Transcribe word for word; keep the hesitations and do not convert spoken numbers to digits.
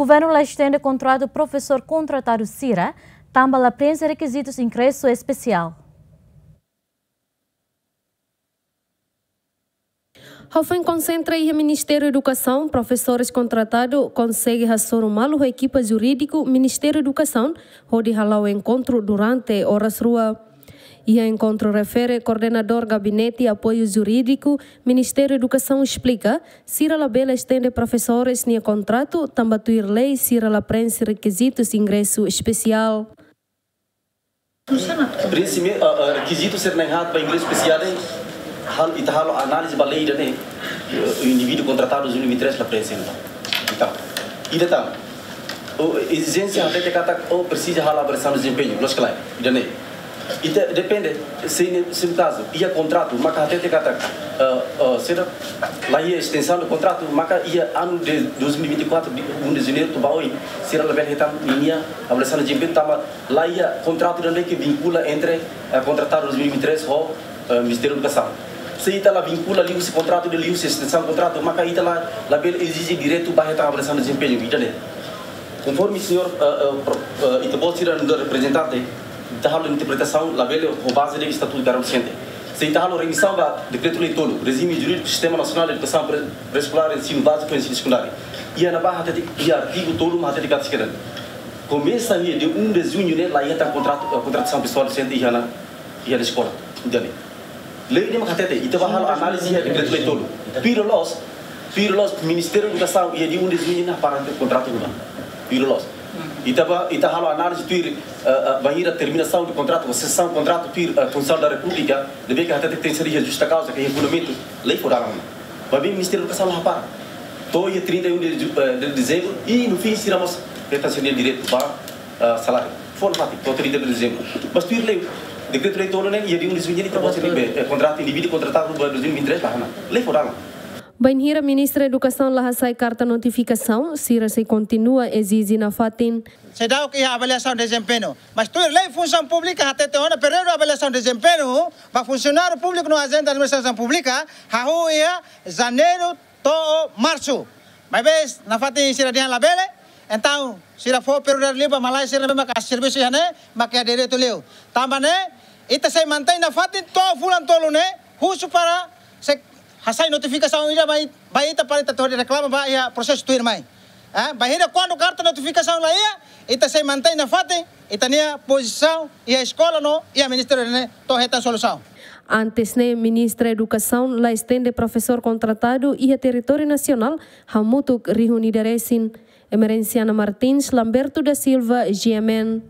Governu la estende kontratu profesór kontratadu sira, tanba la prenxe rekizitus ingresu espesiál. Ha'u foin konsentra iha Ministériu Edukasaun, profesores kontratadu konsege hasoru malu ho ekipa jurídiku Ministériu Edukasaun, hodi hala'o enkontru durante oras rua. Iha enkontru refere, koordenadór Gabinete Apoiu Jurídiku Ministériu Edukasaun esplika, sira labele estende profesores nia kontratu, tanba tuir lei sira la prenxe rekizitus ingresu espesiál. Prenxe, ah, ah, rekizitu sira na'in-haat ba ingresu espesiál, hal, ita halo análize ba lei ida-ne'e, eh, indivíduu kontratadu dois mil e vinte e três la prenxe, entaun. Entaun, ida tan, o, ezijénsia hatete katak, o, presiza halo avaliasaun dezempeñu, loos ka lae, ida-ne'e. Ita depende, se ne, se no kazu, iha kontratu, maka hatete katak, eh, eh, sira, la iha estensaun de kontratu, maka iha anu de dois mil e vinte e quatro, de um de janeiro, to'o ba oin, sira labele hetan ninia avaliasaun dezempeñu, tanba la iha kontratu ida-ne'ebé ke vinkula entre, eh, kontratadu dois mil e vinte e três ho, eh, Ministériu Edukasaun. Se ita la vinkula liuhusi kontratu, de liuhusi estensaun kontratu, maka ita la, labele ezije direitu ba hetan avaliasaun dezempeñu, ida-ne'e. Konforme señór, eh, eh, pro-, eh, ita-boot sira nu'udar reprezentante, ita halo interpretasaun labele ho baze de Estatutu Karau Nasente. Se ita halo remisaun ba Dekretu-Lei tolu, Rejime Jurídiku Sistema Nasionál de Edukasaun Pre-, Pré-Eskolár, Ensinu Báziku, Ensinu Sekundáriu. Iha ne'ebá hatete, iha artigu tolu mak hatete katak sira komesa iha dia um de junho ne'e la iha tan kontratu, eh, kontratasaun pesoál dosente iha ona, iha ona eskola. Entaun, lei ne'e mak hatete, ita bá halo análize iha Dekretu-Lei tolu. Tuir loloos, tuir loloos, Ministériu Edukasaun iha dia um de junho ne'e hapara kontratu ruma. Tuir loloos. Ita bá, ita halo análize tuir, eh, eh, bainhira terminasaun de kontratu, sesaun kontratu tuir, eh, Konsellu da Repúblika, ne'ebé ke hatete tenke ser iha justa kauza, ke iha fundamentu, lei fó dalan. Maibé Ministériu Edukasaun la hapara. To'o iha trinta e um de ju-, eh, de dezembru, i no fim sira mós hetan sira-nia direitu ba, eh, saláriu. Fó nafatin, to'o trinta de dezembru. Mas tuir lei, Dekretu-Lei tolu ne'e, iha dia um de junho ne'e, ita-boot sira-nia, eh, kontratu indivíduu kontratadu ba dois mil e vinte e três la hanesan. Lei fó dalan. Bainhira Ministra Edukasaun la hasai karta notifikasaun, sira sei kontinua ezije nafatin. Seidauk iha avaliasaun dezempeñu. Mas tuir lei funsaun públika hatete ona períodu avaliasaun dezempeñu ba funsionáriu públiku no ajente administrasaun públika, hahú iha janeiru to'o marsu. Maibé nafatin sira dehan labele, entaun sira fó prioridade liu ba malae sira ne'ebé maka servisu iha ne'e, maka iha direitu liu. Tanba ne'e, ita sei mantein nafatin to'o fulan tolu ne'e, husu para sei hasai notifikasaun ida ba it-, ba ita para ita hodi reklama ba iha prosesu tuirmai. Eh, bainhira kuandu karta notifikasaun la iha, ita sei mantein nafatin ita-nia pozisaun iha eskola no iha ministériu ne'e to'o hetan solusaun. Antes ne'e, Ministra Edukasaun la estende profesór kontratadu iha territóriu nasionál, hamutuk rihun ida resin. Emerenciana Martins, Lamberto da Silva, G M N.